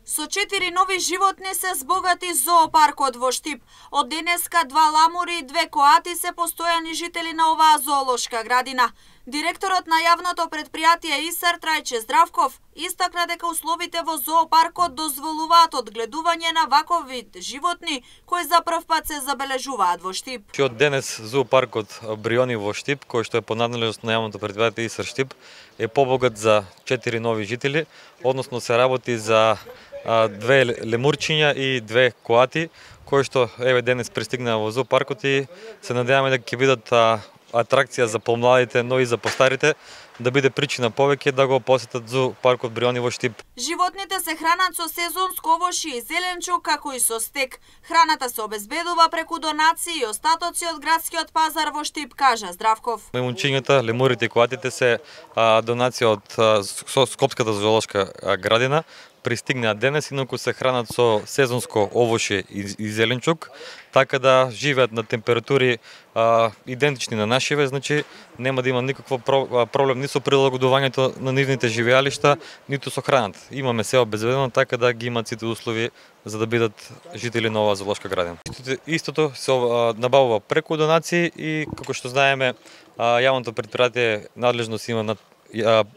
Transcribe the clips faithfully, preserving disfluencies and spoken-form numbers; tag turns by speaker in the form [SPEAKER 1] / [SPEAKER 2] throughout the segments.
[SPEAKER 1] Со четири нови животни се збогати зоопаркот во Штип. Од денеска два ламури и две коати се постојани жители на оваа зоолошка градина. Директорот на јавното предпријатие ИСАР Трајче Здравков истакна дека условите во зоопаркот дозволуваат одгледување на ваков вид животни кои за прв пат се забележуваат во Штип.
[SPEAKER 2] Од денес зоопаркот Бриони во Штип, кој што е по надлежност на јавното предпријатие ИСАР Штип, е побогат за четири нови жители, односно се работи за две лемурчиња и две коати, кои што еве денес пристигнаа во зоопаркот и се надеваме дека ќе бидат атракција за помладите, но и за постарите, да биде причина повеќе да го посетат зоопаркот Бриони во Штип.
[SPEAKER 1] Животните се хранат со сезонско овошје и зеленчук, како и со стек. Храната се обезбедува преку донации и остатоци од градскиот пазар во Штип, кажа Здравков.
[SPEAKER 2] Маймунчињата, лемурите и коатите се а, донација од а, Скопската зоолошка градина. Пристигнаа денес, инаку се хранат со сезонско овошје и, и зеленчук, така да живеат на температури а, идентични на нашиве, значи нема да има никакво проблем ни со прилагодувањето на нивните живеалишта, ниту со храната. Имаме се обезбедено така да ги имат сите услови за да бидат жители на оваа зоолошка градина. Истото се набавува преку донации и како што знаеме, јавното предпријатие надлежност има над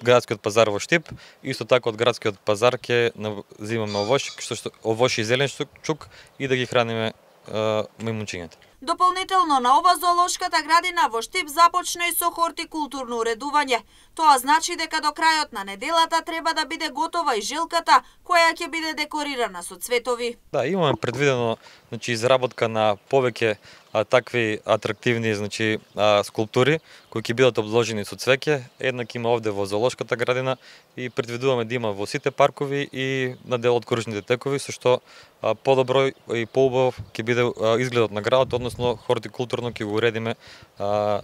[SPEAKER 2] градскиот пазар во Штип, исто така од градскиот пазар ќе земаме овошје, што овошје и зеленчук и да ги храниме мајмунчињата.
[SPEAKER 1] Дополнително на ова зоолошката градина во Штип започна и со хортикултурно уредување. Тоа значи дека до крајот на неделата треба да биде готова и жилката која ќе биде декорирана со цветови.
[SPEAKER 2] Да, имаме предвидено значи изработка на повеќе а, такви атрактивни значи а, скулптури кои ќе бидат обложени со цвеќе. Еднак има овде во зоолошката градина и предвидуваме да има во сите паркови и на дел од кружните текови, со што подобро и поубав ќе биде а, изгледот на градот, односно хортикултурно ќе го уредиме а,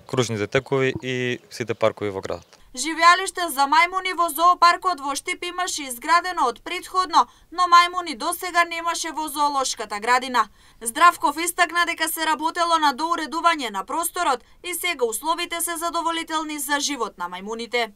[SPEAKER 2] кружните текови и сите паркови во градот.
[SPEAKER 1] Живеалиште за мајмуни во зоопаркот во Штип имаше изградено од претходно, но мајмуни досега немаше во зоолошката градина. Здравков истакна дека се работело на доуредување на просторот и сега условите се задоволителни за живот на мајмуните.